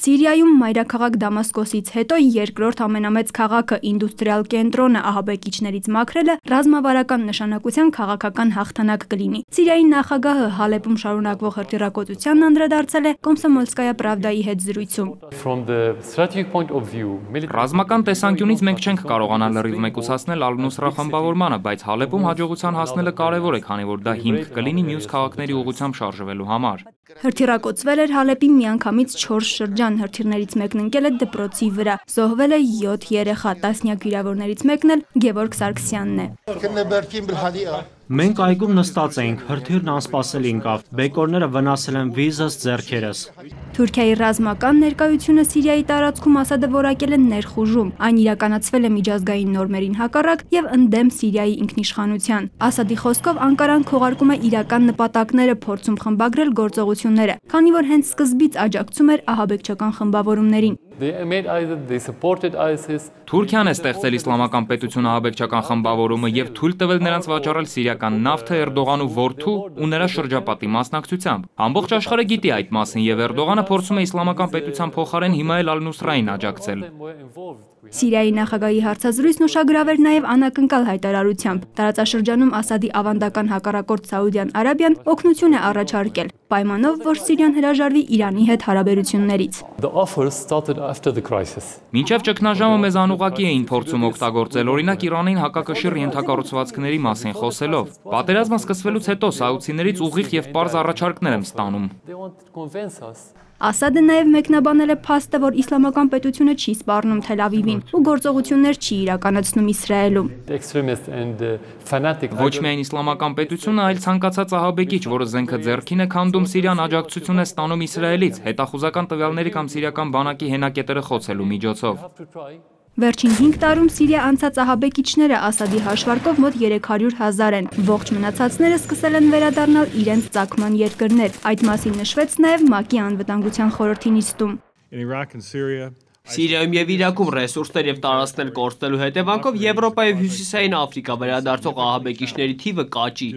Սիրիայում մայրաքաղաք Դամասկոսից հետո երկրորդ ամենամեծ քաղաքը ինդուստրիալ կենտրոնը ահաբեկիչներից մաքրելը ռազմավարական նշանակության քաղաքական հաղթանակ կլինի։ Սիրիայի նախագահը Հալեպում շարունակվող հրթիռակոծությանն անդրադարձել է Կոմսոմոլսկայա Պրավդայի հետ զրույցում։ Ռազմական տեսանկյունից մենք չենք կարողանա լրիվ մեկուսացնել Ալ-Նուսրա խմբավորմանը, բայց Հալեպում հաջողության հասնելը կարևոր է, քանի որ դա հիմք կլինի մյուս քաղաքների ուղղությամբ շարժվելու համար։ Հրթիռակոծվել էր Հալեպի միանգամից 4 շրջան, հրթիռներից մեկն ընկել է դպրոցի վրա, զոհվել է 7 երեխա, տասնյակ վիրավորներից մեկն էլ Գևորգ Սարգսյանն է։ Մենք այգում նստած էինք, հրթիռն անսպասելի ընկավ, բեկորները վնասել են վիզս, ձեռքերս։ Թուրքիայի ռազմական ներկայությունը Սիրիայի տարածքում Ասադը որակել է ներխուժում, այն իրականացվել է միջազգային նորմերին հակառակ եւ ընդդեմ Սիրիայի ինքնիշխանության։ Ասադի խոսքով Անկարան քողարկում է իրական նպատակները, փորձում խմբագրել գործողությունները, քանի որ հենց սկզբից աջակցում էր ահաբեկչական խմբավորումներին։ Թուրքիան է ստեղծել իսլամական պետություն ահաբեկչական խմբավորումը եւ թույլ տվել նրանց վաճառել սիրիական նավթը Էրդողանու որդու ու նրա շրջապատի մասնակցությամբ։ Ամբողջ աշխարհը գիտի այդ մասին եւ Էրդողանը փորձում է իսլամական պետության փոխարեն հիմա էլ Ալ-Նուսրային աջակցել։ Սիրիայի նախագահի հարցազրույցն ուշագրավ էր նաև անակնկալ հայտարարությամբ։ Տարածաշրջանում Ասադի ավանդական հակառակորդ Սաուդյան Արաբիան օգնություն է առաջարկել, պայմանով, որ Սիրիան հրաժարվի Իրանի հետ հարաբերություններից։ Մինչև ճգնաժամը մեզ անուղղակի էին փորձում օգտագործել, օրինակ Իրանին հակակշիռ ենթակառուցվածքների մասին խոսելով։ Պատերազմը սկսվելուց հետո սաուդցիներից ուղիղ եւ պարզ առաջարկներ եմ ստանում։ Ասադը նաև մեկնաբանել է փաստը, որ իսլամական պետությունը չի սպառնում Թել Ավիվին ու գործողություններ չի իրականացնում Իսրայելում։ Ոչ միայն իսլամական պետությունը, այլ ցանկացած ահաբեկիչ, որը զենքը ձեռքին է քանդում Սիրիան, աջակցություն է ստանում Իսրայելից, հետախուզական տվյալների կամ սիրիական բանակի հենակետերը խոցելու միջոցով։ Վերջին 5 տարում Սիրիա անցած ահաբեկիչները Ասադի հաշվարկով մոտ 300,000 են, ողջ մնացածները սկսել են վերադառնալ իրենց ծագման երկրներ, այդ մասին նշվեց նաև ՄԱԿ-ի անվտանգության խորհրդի նիստում։ Սիրիայում եւ Իրաքում ռեսուրսներ եւ տարածքներ կորցնելու հետևանքով Եվրոպա եւ Հյուսիսային Աֆրիկա վերադարձող ահաբեկիչների թիվը կաճի։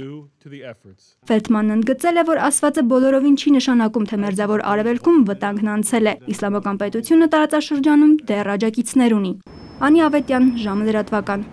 Ֆելդմանն ընդգծել է, որ ասվածը բոլորովին չի նշանակում, թե Մերձավոր Արևելքում վտանգն անցել է։ Իսլամական պետությունը տարածաշրջանում դեռ աջակիցներ ունի։ Անի Ավետյան, ժամը լրատվական։